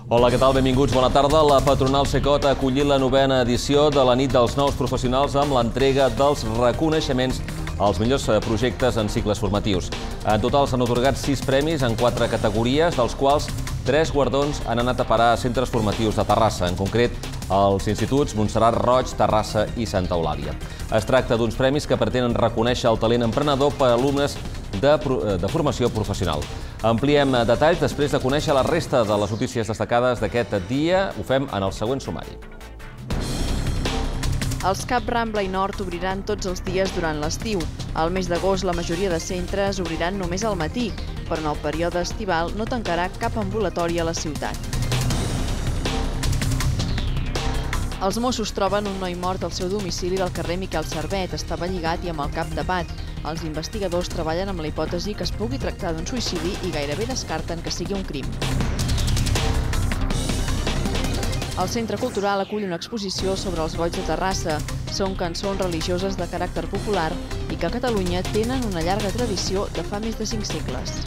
Hola, què tal? Benvinguts, bona tarda. La patronal Cecot ha acollit la 9a edició de la nit dels nous professionals amb l'entrega dels reconeixements als millors projectes en cicles formatius. En total s'han atorgat 6 premis en 4 categories, dels quals 3 guardons han anat a parar a centres formatius de Terrassa, en concret als instituts Montserrat Roig, Terrassa i Santa Eulàlia. Es tracta d'uns premis que pretenen reconèixer el talent emprenedor per a alumnes de formació professional. Ampliem detalls després de conèixer la resta de les notícies destacades d'aquest dia. Ho fem en el següent sumari. Els CAP Rambla i Nord obriran tots els dies durant l'estiu. Al mes d'agost la majoria de centres obriran només al matí, però en el període estival no tancarà cap ambulatori a la ciutat. Els Mossos troben un noi mort al seu domicili del carrer Miquel Servet. Estava lligat i amb el cap tapat. Els investigadors treballen amb la hipòtesi que es pugui tractar d'un suïcidi i gairebé descarten que sigui un crim. El Centre Cultural acull una exposició sobre els goigs de Terrassa. Són cançons religioses de caràcter popular i que a Catalunya tenen una llarga tradició de fa més de 5 segles.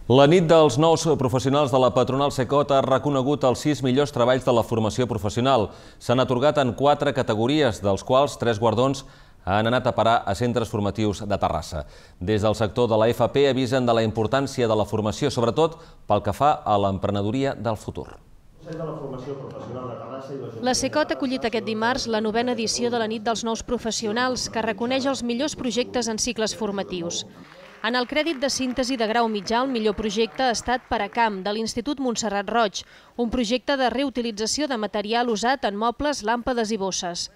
La nit dels nous professionals de la patronal Cecot ha reconegut els 6 millors treballs de la formació professional. S'han atorgat en 4 categories, dels quals 3 guardons han anat a parar a centres formatius de Terrassa. Des del sector de la FP avisen de la importància de la formació, sobretot pel que fa a l'emprenedoria del futur. La Cecot ha acollit aquest dimarts la 9a edició de la nit dels nous professionals, que reconeix els millors projectes en cicles formatius. En el crèdit de síntesi de grau mitjà, el millor projecte ha estat Paracamp, de l'Institut Montserrat Roig, un projecte de reutilització de material usat en mobles, làmpades i bosses.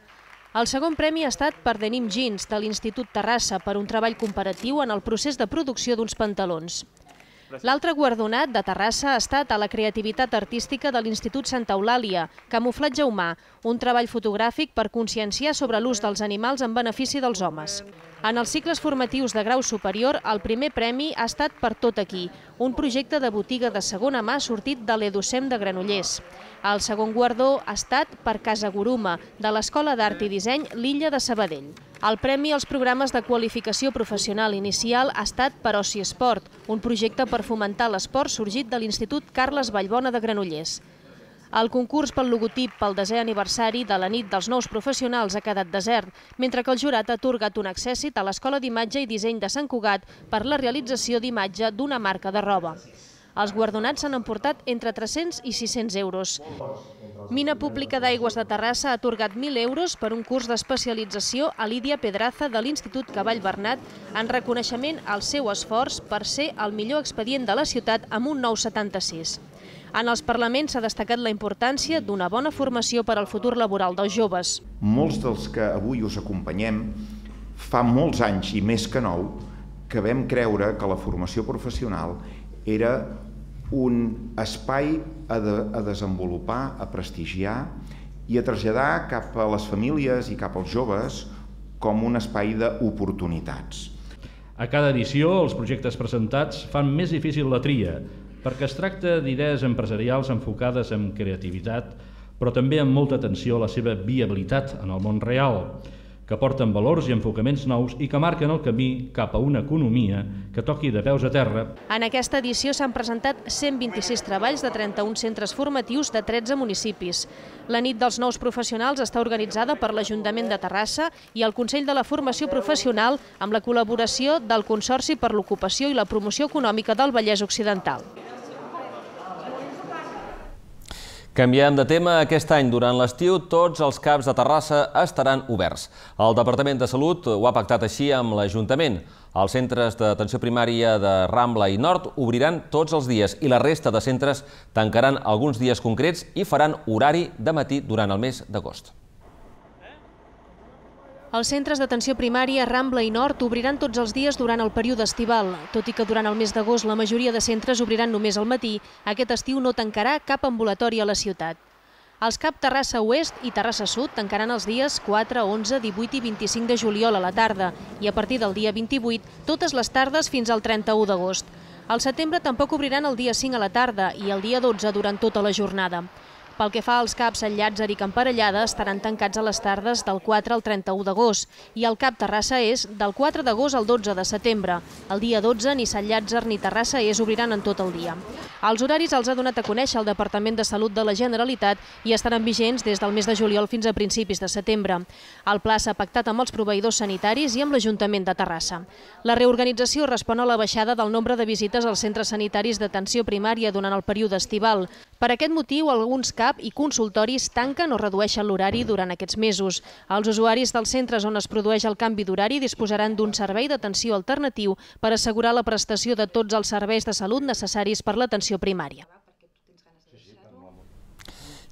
El segon premi ha estat per Denim Jeans, de l'Institut Terrassa, per un treball comparatiu en el procés de producció d'uns pantalons. L'altre guardonat de Terrassa ha estat a la creativitat artística de l'Institut Santa Eulàlia, Camuflatge humà, un treball fotogràfic per conscienciar sobre l'ús dels animals en benefici dels homes. En els cicles formatius de grau superior, el primer premi ha estat per Tot aquí, un projecte de botiga de segona mà sortit de l'Edusem de Granollers. El segon guardó ha estat per Casa Guruma, de l'Escola d'Art i Disseny L'Illa de Sabadell. El premi als programes de qualificació professional inicial ha estat per Oci Esport, un projecte per fomentar l'esport sorgit de l'Institut Carles Vallbona de Granollers. El concurs pel logotip pel 10è aniversari de la nit dels nous professionals ha quedat desert, mentre que el jurat ha atorgat un accèssit a l'Escola d'Imatge i Disseny de Sant Cugat per la realització d'imatge d'una marca de roba. Els guardonats s'han emportat entre 300 i 600 euros. Mina Pública d'Aigües de Terrassa ha atorgat 1.000 euros per un curs d'especialització a Lídia Pedraza de l'Institut Cavall Bernat en reconeixement al seu esforç per ser el millor expedient de la ciutat amb un 9,76. En els parlaments s'ha destacat la importància d'una bona formació per al futur laboral dels joves. Molts dels que avui us acompanyem, fa molts anys i més que nou, que vam creure que la formació professional era un espai a desenvolupar, a prestigiar i a traslladar cap a les famílies i cap als joves com un espai d'oportunitats. A cada edició, els projectes presentats fan més difícil la tria, perquè es tracta d'idees empresarials enfocades en creativitat, però també amb molta atenció a la seva viabilitat en el món real, que porten valors i enfocaments nous i que marquen el camí cap a una economia que toqui de peus a terra. En aquesta edició s'han presentat 126 treballs de 31 centres formatius de 13 municipis. La nit dels nous professionals està organitzada per l'Ajuntament de Terrassa i el Consell de la Formació Professional amb la col·laboració del Consorci per l'Ocupació i la Promoció Econòmica del Vallès Occidental. Canviem de tema. Aquest any, durant l'estiu, tots els CAPs de Terrassa estaran oberts. El Departament de Salut ho ha pactat així amb l'Ajuntament. Els centres d'atenció primària de Rambla i Nord obriran tots els dies i la resta de centres tancaran alguns dies concrets i faran horari de matí durant el mes d'agost. Els centres d'atenció primària Rambla i Nord obriran tots els dies durant el període estival. Tot i que durant el mes d'agost la majoria de centres obriran només al matí, aquest estiu no tancarà cap ambulatori a la ciutat. Els CAP Terrassa Oest i Terrassa Sud tancaran els dies 4, 11, 18 i 25 de juliol a la tarda i a partir del dia 28 totes les tardes fins al 31 d'agost. Al setembre tampoc obriran el dia 5 a la tarda i el dia 12 durant tota la jornada. Pel que fa als CAPs Sant Llàtzer i Camparellada, estaran tancats a les tardes del 4 al 31 d'agost i el CAP Terrassa és del 4 d'agost al 12 de setembre. El dia 12 ni Sant Llàtzer ni Terrassa obriran en tot el dia. Els horaris els ha donat a conèixer el Departament de Salut de la Generalitat i estaran vigents des del mes de juliol fins a principis de setembre. El pla s'ha pactat amb els proveïdors sanitaris i amb l'Ajuntament de Terrassa. La reorganització respon a la baixada del nombre de visites als centres sanitaris d'atenció primària durant el període estival. Per aquest motiu, alguns CAP i consultoris tanquen o redueixen l'horari durant aquests mesos. Els usuaris dels centres on es produeix el canvi d'horari disposaran d'un servei d'atenció alternatiu per assegurar la prestació de tots els serveis de salut necessaris per l'atenció primària.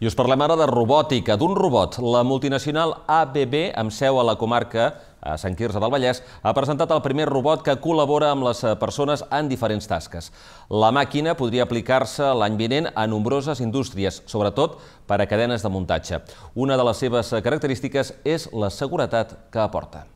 I us parlem ara de robòtica, d'un robot. La multinacional ABB, amb seu a la comarca a Sant Quirze del Vallès, ha presentat el primer robot que col·labora amb les persones en diferents tasques. La màquina podria aplicar-se l'any vinent a nombroses indústries, sobretot per a cadenes de muntatge. Una de les seves característiques és la seguretat que aporta.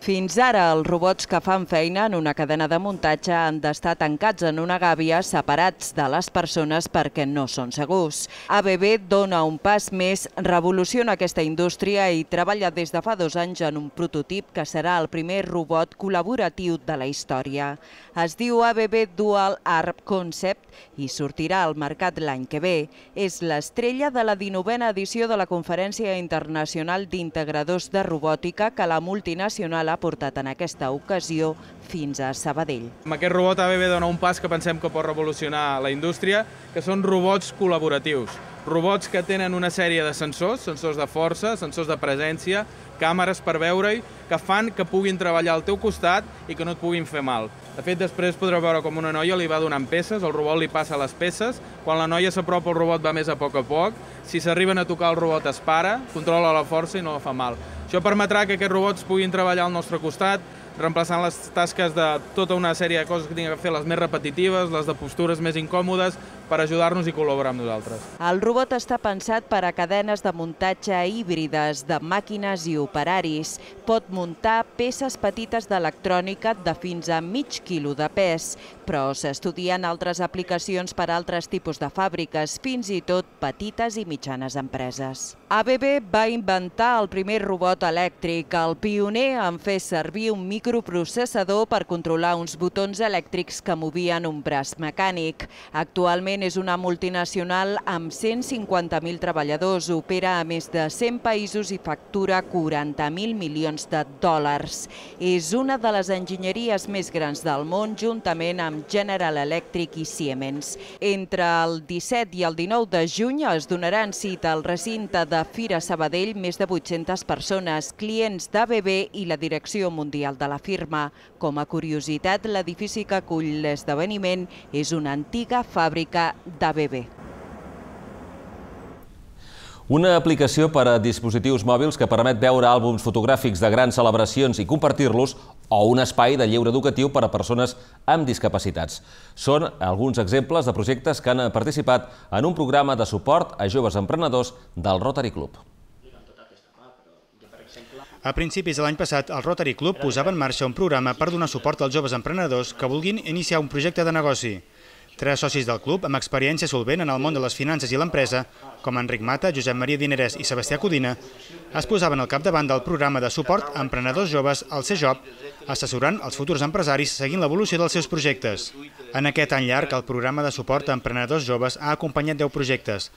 Fins ara, els robots que fan feina en una cadena de muntatge han d'estar tancats en una gàbia separats de les persones perquè no són segurs. ABB dona un pas més, revoluciona aquesta indústria i treballa des de fa 2 anys en un prototip que serà el primer robot col·laboratiu de la història. Es diu ABB Dual Arm Concept i sortirà al mercat l'any que ve. És l'estrella de la 19a edició de la Conferència Internacional d'Integradors de Robòtica que la multinacional ha portat en aquesta ocasió fins a Sabadell. Amb aquest robot ABB dona un pas que pensem que pot revolucionar la indústria, que són robots col·laboratius. Robots que tenen una sèrie de sensors, sensors de força, sensors de presència, càmeres per veure-hi, que fan que puguin treballar al teu costat i que no et puguin fer mal. De fet, després podreu veure com una noia li va donant peces, el robot li passa les peces, quan la noia s'apropa el robot va més a poc, si s'arriben a tocar el robot es para, controla la força i no fa mal. Això permetrà que aquests robots puguin treballar al nostre costat, reemplaçant les tasques de tota una sèrie de coses que tinguin que fer, les més repetitives, les de postures més incòmodes, per ajudar-nos i col·laborar amb nosaltres. El robot està pensat per a cadenes de muntatge híbrides de màquines i operaris. Pot muntar peces petites d'electrònica de fins a mig quilo de pes, però s'estudien altres aplicacions per a altres tipus de fàbriques, fins i tot petites i mitjanes empreses. ABB va inventar el primer robot elèctric, el pioner en fer servir un microprocessador per controlar uns botons elèctrics que movien un braç mecànic. Actualment és una multinacional amb 150.000 treballadors, opera a més de 100 països i factura 40.000 milions de dòlars. És una de les enginyeries més grans del món, juntament amb General Electric i Siemens. Entre el 17 i el 19 de juny es donaran cita al recinte de Fira Sabadell més de 800 persones, clients d'ABB i la direcció mundial de la firma. Com a curiositat, l'edifici que acull l'esdeveniment és una antiga fàbrica d'ABB. Una aplicació per a dispositius mòbils que permet veure àlbums fotogràfics de grans celebracions i compartir-los o un espai de lleure educatiu per a persones amb discapacitats. Són alguns exemples de projectes que han participat en un programa de suport a joves emprenedors del Rotary Club. A principis de l'any passat, el Rotary Club posava en marxa un programa per donar suport als joves emprenedors que vulguin iniciar un projecte de negoci. 3 socis del club amb experiència solvent en el món de les finances i l'empresa, com Enric Mata, Josep Maria Dinerès i Sebastià Codina, es posaven al capdavant del programa de suport a emprenedors joves, el CJOB, assessorant els futurs empresaris seguint l'evolució dels seus projectes. En aquest any llarg, el programa de suport a emprenedors joves ha acompanyat 10 projectes.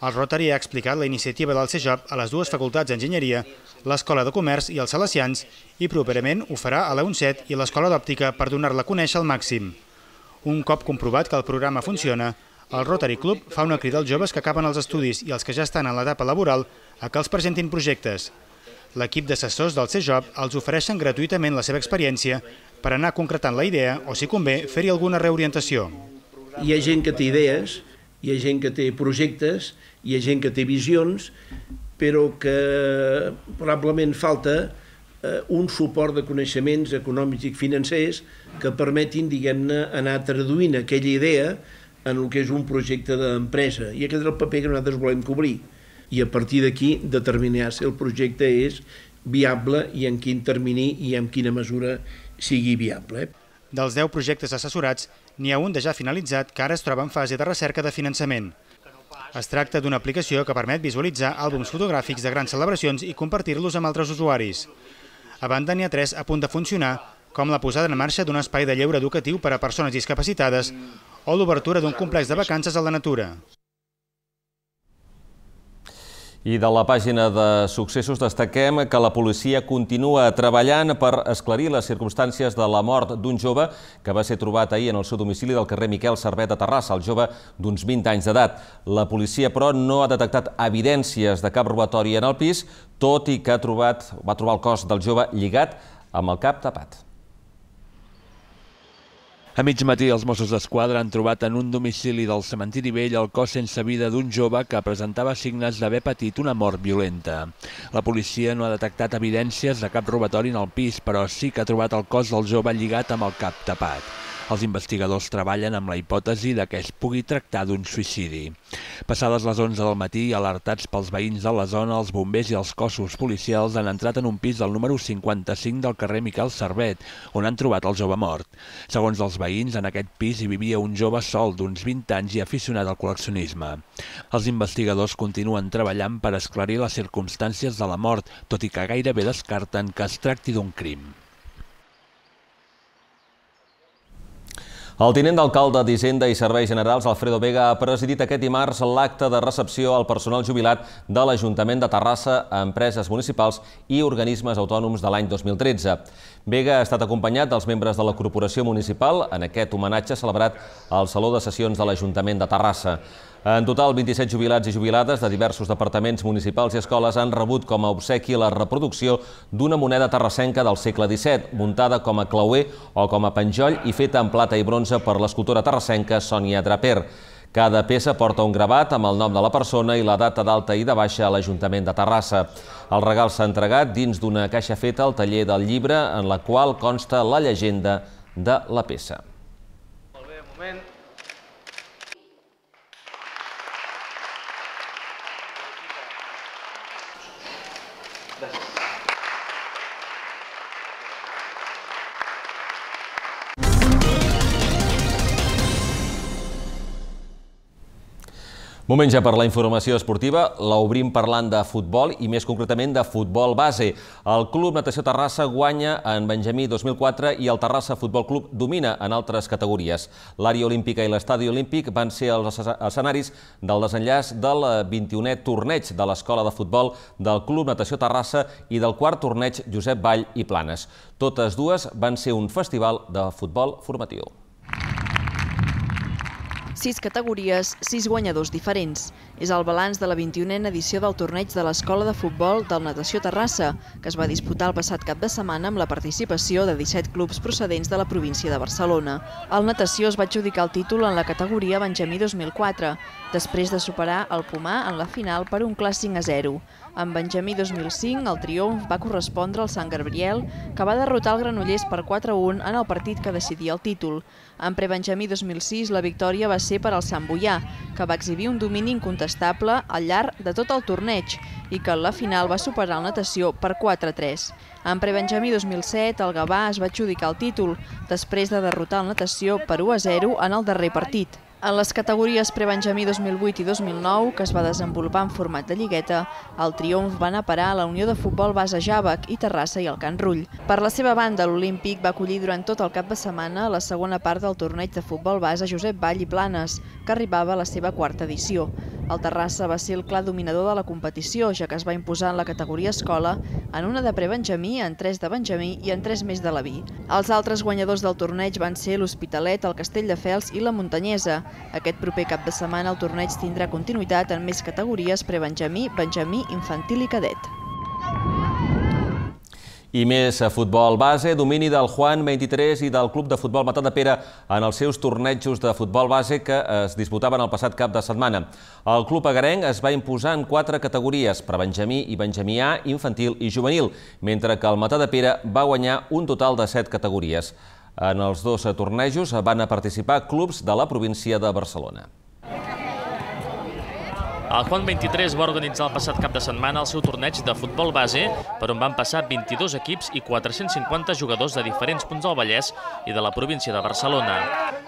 El Rotary ha explicat la iniciativa del CJOB a les 2 facultats d'Enginyeria, l'Escola de Comerç i els Salesians, i properament ho farà a la UNCET i l'Escola d'Òptica per donar-la a conèixer al màxim. Un cop comprovat que el programa funciona, el Rotary Club fa una crida als joves que acaben els estudis i els que ja estan en l'etapa laboral a que els presentin projectes. L'equip d'assessors del CJOB els ofereixen gratuïtament la seva experiència per anar concretant la idea o, si convé, fer-hi alguna reorientació. Hi ha gent que té idees, hi ha gent que té projectes, hi ha gent que té visions, però que probablement falta un suport de coneixements econòmics i financers que permetin, diguem-ne, anar traduint aquella idea en el que és un projecte d'empresa. I aquest és el paper que nosaltres volem cobrir. I a partir d'aquí determinar si el projecte és viable i en quin termini i en quina mesura sigui viable. Dels 10 projectes assessorats, N'hi ha un de ja finalitzat que ara es troba en fase de recerca de finançament. Es tracta d'una aplicació que permet visualitzar àlbums fotogràfics de grans celebracions i compartir-los amb altres usuaris. A banda, n'hi ha 3 a punt de funcionar, com la posada en marxa d'un espai de lleure educatiu per a persones discapacitades o l'obertura d'un complex de vacances a la natura. I de la pàgina de successos destaquem que la policia continua treballant per esclarir les circumstàncies de la mort d'un jove que va ser trobat ahir en el seu domicili del carrer Miquel Servet de Terrassa, el jove d'uns 20 anys d'edat. La policia, però, no ha detectat evidències de cap robatori en el pis, tot i que va trobar el cos del jove lligat amb el cap tapat. A mig matí, els Mossos d'Esquadra han trobat en un domicili del cementiri vell el cos sense vida d'un jove que presentava signes d'haver patit una mort violenta. La policia no ha detectat evidències de cap robatori en el pis, però sí que ha trobat el cos del jove lligat amb el cap tapat. Els investigadors treballen amb la hipòtesi que es pugui tractar d'un suïcidi. Passades les 11 del matí, alertats pels veïns de la zona, els bombers i els cossos policials han entrat en un pis del número 55 del carrer Miquel Servet, on han trobat el jove mort. Segons els veïns, en aquest pis hi vivia un jove sol d'uns 20 anys i aficionat al col·leccionisme. Els investigadors continuen treballant per esclarir les circumstàncies de la mort, tot i que gairebé descarten que es tracti d'un crim. El tinent d'alcalde d'Hisenda i Serveis Generals, Alfredo Vega, ha presidit aquest dimarts l'acte de recepció al personal jubilat de l'Ajuntament de Terrassa a empreses municipals i organismes autònoms de l'any 2013. Vega ha estat acompanyat dels membres de la Corporació Municipal en aquest homenatge celebrat al Saló de Sessions de l'Ajuntament de Terrassa. En total, 27 jubilats i jubilades de diversos departaments municipals i escoles han rebut com a obsequi la reproducció d'una moneda terrassenca del segle XVII, muntada com a clauer o com a penjoll i feta en plata i bronze per l'escultora terrassenca Sònia Draper. Cada peça porta un gravat amb el nom de la persona i la data d'alta i de baixa a l'Ajuntament de Terrassa. El regal s'ha entregat dins d'una caixa feta al taller del llibre en la qual consta la llegenda de la peça. Molt bé, un moment. Moment ja per la informació esportiva. L'obrim parlant de futbol i més concretament de futbol base. El Club Natació Terrassa guanya en Benjamí 2004 i el Terrassa Futbol Club domina en altres categories. L'àrea olímpica i l'estadi olímpic van ser els escenaris del desenllaç del 21è torneig de l'Escola de Futbol del Club Natació Terrassa i del 4è torneig Josep Vall i Planes. Totes dues van ser un festival de futbol formatiu. 6 categories, 6 guanyadors diferents. És el balanç de la 21a edició del torneig de l'Escola de Futbol del Natació Terrassa, que es va disputar el passat cap de setmana amb la participació de 17 clubs procedents de la província de Barcelona. El Natació es va adjudicar el títol en la categoria Benjamí 2004, després de superar el Pomar en la final per un clar 5-0. En Benjamí 2005, el triomf va correspondre al Sant Gabriel, que va derrotar el Granollers per 4-1 en el partit que decidia el títol. En Prebenjamí 2006, la victòria va ser per al Sant Boià, que va exhibir un domini incontestable al llarg de tot el torneig i que en la final va superar el Natació per 4-3. En Prebenjamí 2007, el Gavà es va adjudicar el títol, després de derrotar el Natació per 1-0 en el darrer partit. En les categories Prebenjamí 2008 i 2009, que es va desenvolupar en format de lligueta, el triomf va anar a parar a la Unió de Futbol Base Jàvec i Terrassa i el Can Rull. Per la seva banda, l'Olímpic va acollir durant tot el cap de setmana la segona part del torneig de futbol base Josep Vall i Planes, que arribava a la seva 4ª edició. El Terrassa va ser el clar dominador de la competició, ja que es va imposar en la categoria escola, en una de Prebenjamí, en 3 de Benjamí i en 3 més de l'Aví. Els altres guanyadors del torneig van ser l'Hospitalet, el Castelldefels i la Muntanyesa. Aquest proper cap de setmana el torneig tindrà continuïtat en més categories Prebenjamí, Benjamí, Infantil i Cadet. I més futbol base, domini del Juan 23 i del Club de Futbol Matadepera en els seus tornejos de futbol base que es disputaven el passat cap de setmana. El club agarenc es va imposar en 4 categories, Prebenjamí i Benjamí A, Infantil i Juvenil, mentre que el Matadepera va guanyar un total de 7 categories. En els 2 tornejos van participar clubs de la província de Barcelona. El Juan 23 va organitzar el passat cap de setmana el seu torneig de futbol base, per on van passar 22 equips i 450 jugadors de diferents punts del Vallès i de la província de Barcelona.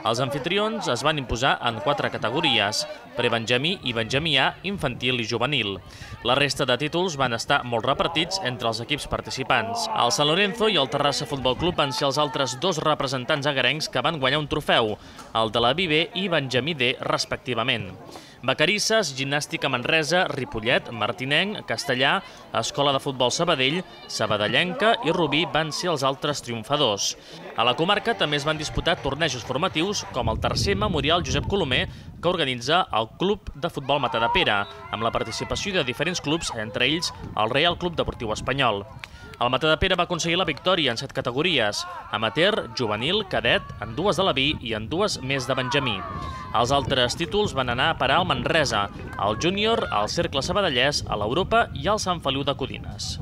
Els anfitrions es van imposar en 4 categories: prebenjamí i benjamià, infantil i juvenil. La resta de títols van estar molt repartits entre els equips participants. El San Lorenzo i el Terrassa Futbol Club van ser els altres 2 representants agarencs que van guanyar un trofeu, el de la B i Benjamí D, respectivament. Vacarisses, Gimnàstica Manresa, Ripollet, Martinenc, Castellà, Escola de Futbol Sabadell, Sabadellenca i Rubí van ser els altres triomfadors. A la comarca també es van disputar tornejos formatius com el tercer Memorial Josep Colomer, que organitza el Club de Futbol Matadepera, amb la participació de diferents clubs, entre ells el Real Club Deportiu Espanyol. El Matadepera va aconseguir la victòria en 7 categories: amateur, juvenil, cadet, en 2 de la B i en 2 més de benjamí. Els altres títols van anar a parar al Manresa, al júnior, al Cercle Sabadellès, a l'Europa i al Sant Feliu de Codines.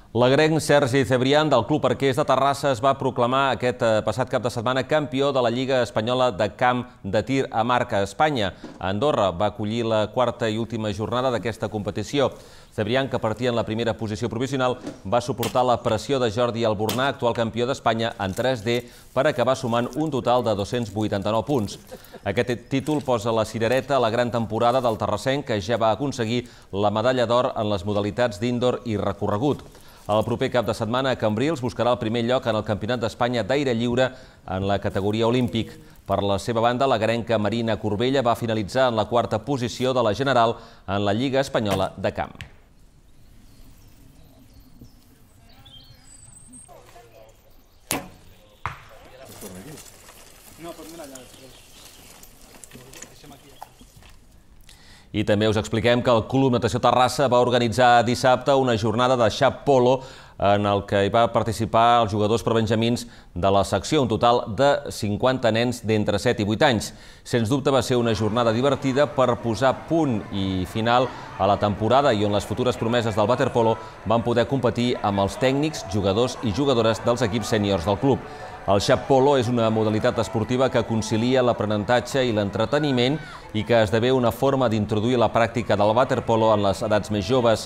L'agrenc Sergi Cebrián del Club Arquers de Terrassa es va proclamar aquest passat cap de setmana campió de la Lliga Espanyola de Camp de Tir a Marca, Espanya. Andorra va acollir la 4a i última jornada d'aquesta competició. Cebrián, que partia en la primera posició provisional, va suportar la pressió de Jordi Albornà, actual campió d'Espanya, en 3D, per acabar sumant un total de 289 punts. Aquest títol posa la cirereta a la gran temporada del terrassenc, que ja va aconseguir la medalla d'or en les modalitats d'indoor i recorregut. El proper cap de setmana a Cambrils buscarà el primer lloc en el Campionat d'Espanya d'aire lliure en la categoria olímpic. Per la seva banda, l'agrenca Marina Corbella va finalitzar en la 4a posició de la general en la Lliga Espanyola de Camp. I també us expliquem que el Club Natació Terrassa va organitzar dissabte una jornada de xap polo en el que hi va participar els jugadors prebenjamins de la secció, un total de 50 nens d'entre 7 i 8 anys. Sens dubte va ser una jornada divertida per posar punt i final a la temporada i on les futures promeses del waterpolo van poder competir amb els tècnics, jugadors i jugadores dels equips sèniors del club. El xap polo és una modalitat esportiva que concilia l'aprenentatge i l'entreteniment i que esdevé una forma d'introduir la pràctica del waterpolo en les edats més joves.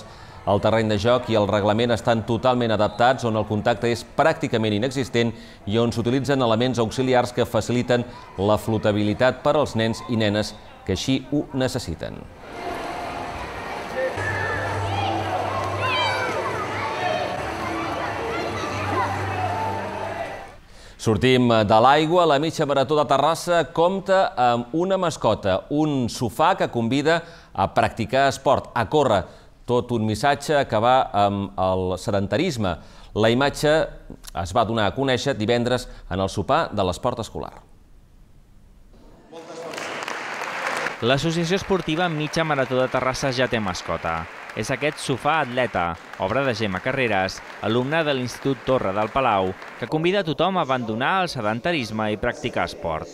El terreny de joc i el reglament estan totalment adaptats, on el contacte és pràcticament inexistent i on s'utilitzen elements auxiliars que faciliten la flotabilitat per als nens i nenes que així ho necessiten. Sortim de l'aigua. La mitja marató de Terrassa compta amb una mascota, un sofà que convida a practicar esport, a córrer. Tot un missatge que va amb el sedentarisme. La imatge es va donar a conèixer divendres en el sopar de l'esport escolar. L'associació esportiva Mitja Marató de Terrassa ja té mascota. És aquest sofà atleta, obra de Gemma Carreras, alumna de l'Institut Torre del Palau, que convida a tothom a abandonar el sedentarisme i practicar esport.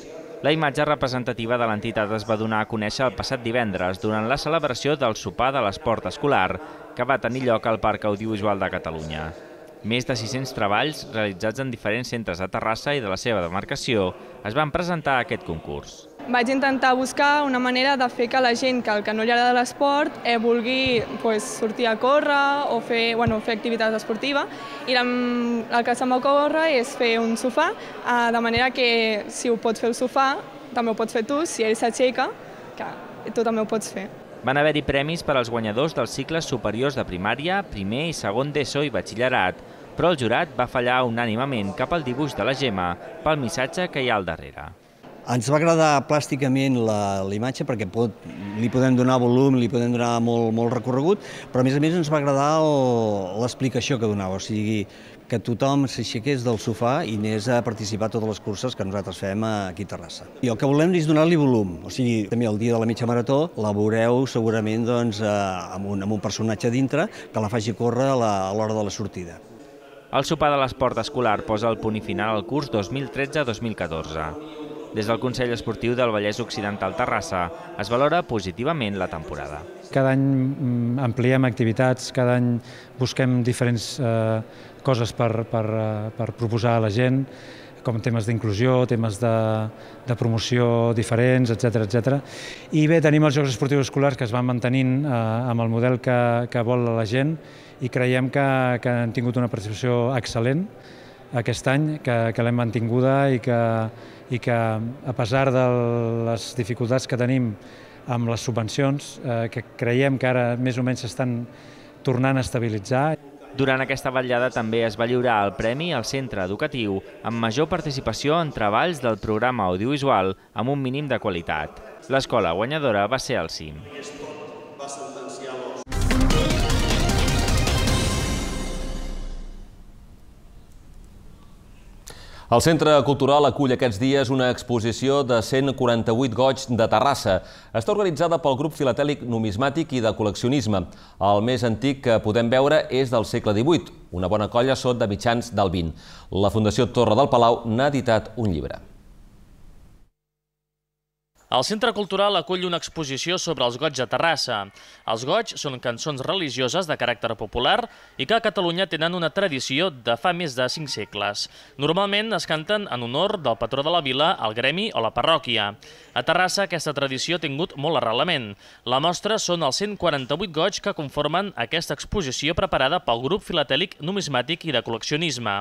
La imatge representativa de l'entitat es va donar a conèixer el passat divendres durant la celebració del sopar de l'esport escolar, que va tenir lloc al Parc Audiovisual de Catalunya. Més de 600 treballs realitzats en diferents centres de Terrassa i de la seva demarcació es van presentar a aquest concurs. Vaig intentar buscar una manera de fer que la gent que no li agrada l'esport vulgui sortir a córrer o fer activitat esportiva, i el que se m'ocorre és fer un sofà, de manera que si ho pots fer el sofà, també ho pots fer tu, si ell s'aixeca, que tu també ho pots fer. Van haver-hi premis per als guanyadors dels cicles superiors de primària, primer i segon d'ESO i batxillerat, però el jurat va fallar unànimement cap al dibuix de la Gemma pel missatge que hi ha al darrere. Ens va agradar plàsticament la imatge perquè li podem donar volum, li podem donar molt recorregut, però a més ens va agradar l'explicació que donava, o sigui, que tothom s'aixequés del sofà i anés a participar a totes les curses que nosaltres fem aquí a Terrassa. I el que volem és donar-li volum, o sigui, també el dia de la mitja marató la veureu segurament amb un personatge dintre que la faci córrer a l'hora de la sortida. El sopar de l'esport escolar posa el punt final al curs 2013-2014. Des del Consell Esportiu del Vallès Occidental Terrassa es valora positivament la temporada. Cada any ampliem activitats, cada any busquem diferents coses per proposar a la gent, com temes d'inclusió, temes de promoció diferents, etc. I bé, tenim els Jocs Esportius Escolars que es van mantenint amb el model que vol la gent i creiem que han tingut una participació excel·lent. aquest any, que l'hem mantinguda i que a pesar de les dificultats que tenim amb les subvencions, que creiem que ara més o menys s'estan tornant a estabilitzar. Durant aquesta vetllada també es va lliurar el premi al centre educatiu amb major participació en treballs del programa audiovisual amb un mínim de qualitat. L'escola guanyadora va ser el CIM. El Centre Cultural acull aquests dies una exposició de 148 goigs de Terrassa. Està organitzada pel grup filatèlic numismàtic i de col·leccionisme. El més antic que podem veure és del segle XVIII. Una bona colla són de mitjans del XX. La Fundació Torre del Palau n'ha editat un llibre. El Centre Cultural acull una exposició sobre els goigs de Terrassa. Els goigs són cançons religioses de caràcter popular i que a Catalunya tenen una tradició de fa més de 5 segles. Normalment es canten en honor del patró de la vila, el gremi o la parròquia. A Terrassa aquesta tradició ha tingut molt arrelament. La mostra són els 148 goigs que conformen aquesta exposició preparada pel grup filatèlic numismàtic i de col·leccionisme.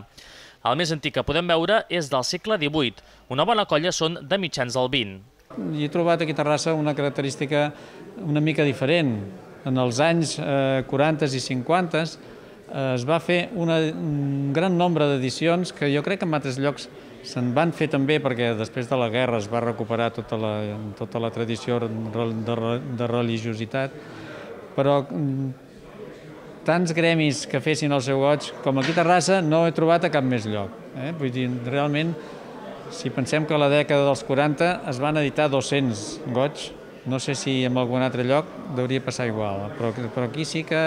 El més antic que podem veure és del segle XVIII. Una bona colla són de mitjans del XX. He trobat aquí a Terrassa una característica una mica diferent. En els anys 40 i 50 es va fer un gran nombre d'edicions que jo crec que en altres llocs se'n van fer també perquè després de la guerra es va recuperar tota la tradició de religiositat, però tants gremis que fessin el seu goig com aquí a Terrassa no he trobat a cap més lloc. Vull dir, realment, si pensem que a la dècada dels 40 es van editar 200 goigs, no sé si en algun altre lloc hauria passar igual, però aquí sí que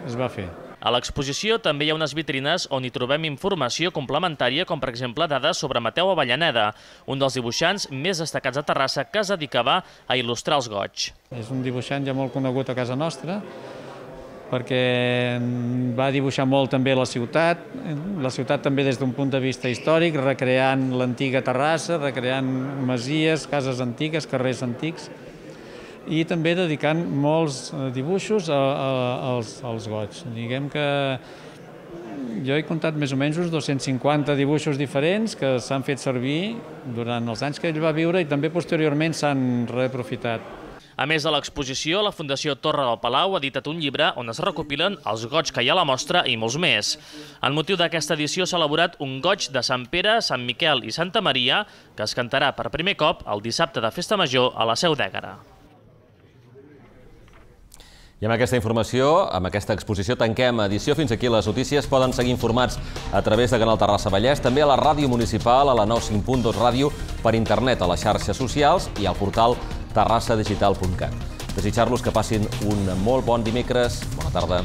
es va fer. A l'exposició també hi ha unes vitrines on hi trobem informació complementària, com per exemple dades sobre Mateu Avellaneda, un dels dibuixants més destacats a Terrassa que es dedicava a il·lustrar els goigs. És un dibuixant ja molt conegut a casa nostra, perquè va dibuixar molt també la ciutat també des d'un punt de vista històric, recreant l'antiga Terrassa, recreant masies, cases antigues, carrers antics, i també dedicant molts dibuixos als goigs. Diguem que jo he comptat més o menys uns 250 dibuixos diferents que s'han fet servir durant els anys que ell va viure i també posteriorment s'han reaprofitat. A més de l'exposició, la Fundació Torre del Palau ha editat un llibre on es recopilen els goigs que hi ha a la mostra i molts més. En motiu d'aquesta edició s'ha elaborat un goig de Sant Pere, Sant Miquel i Santa Maria que es cantarà per primer cop el dissabte de Festa Major a la Seu d'Ègara. I amb aquesta informació, amb aquesta exposició, tanquem edició. Fins aquí les notícies. Poden seguir informats a través de Canal Terrassa Vallès, també a la ràdio municipal, a la 95.2 ràdio, per internet, a les xarxes socials i al portal terrassadigital.cat. Desitjar-los que passin un molt bon dimecres. Bona tarda.